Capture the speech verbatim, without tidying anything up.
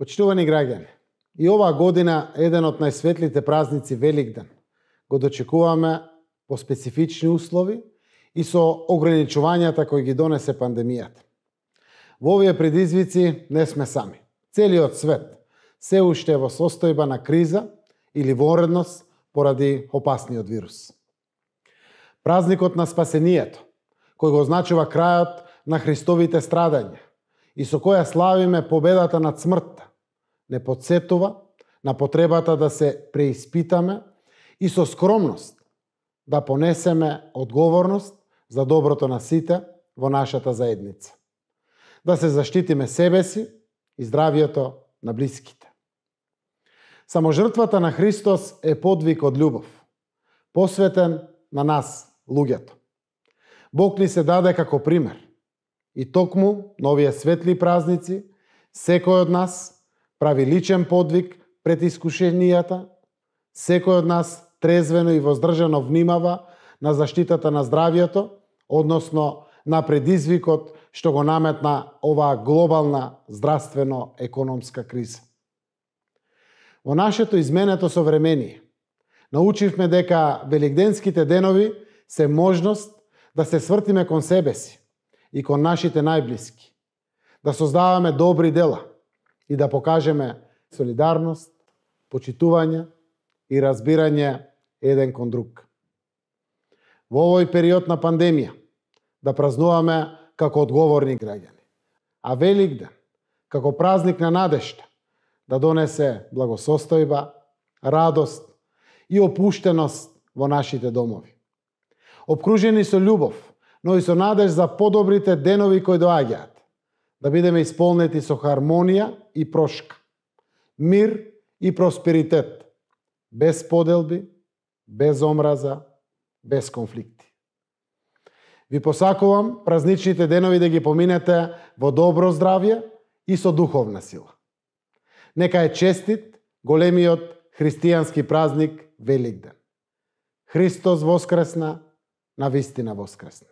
Почитувани граѓани, и оваа година еден од најсветлите празници Великден го дочекуваме по специфични услови и со ограничувањата кои ги донесе пандемијата. Во овие предизвици не сме сами. Целиот свет се уште е во состојба на криза или воредност поради опасниот вирус. Празникот на спасението, кој го означува крајот на Христовите страдања и со која славиме победата над смртта, не подсетува на потребата да се преиспитаме и со скромност да понесеме одговорност за доброто на сите во нашата заедница. Да се заштитиме себе си и здравието на блиските. Само жртвата на Христос е подвиг од љубов, посветен на нас, луѓето. Бог ни се даде како пример. И токму на овие светли празници, секој од нас прави личен подвиг пред искушенијата, секој од нас трезвено и воздржано внимава на заштитата на здравието, односно на предизвикот што го наметна оваа глобална здравствено-економска криза. Во нашето изменето современие научивме дека великденските денови се можност да се свртиме кон себе си и кон нашите најблиски, да создаваме добри дела и да покажеме солидарност, почитување и разбирање еден кон друг. Во овој период на пандемија да празнуваме како одговорни граѓани, а Великден како празник на надежта да донесе благосостојба, радост и опуштеност во нашите домови. Обкружени со љубов, но и со надеж за подобрите денови кои доаѓаат, да бидеме исполнети со хармонија и прошка, мир и просперитет, без поделби, без омраза, без конфликти. Ви посакувам празничните денови да ги поминете во добро здравје и со духовна сила. Нека е честит големиот христијански празник Великден. Христос воскресна, навистина воскресна.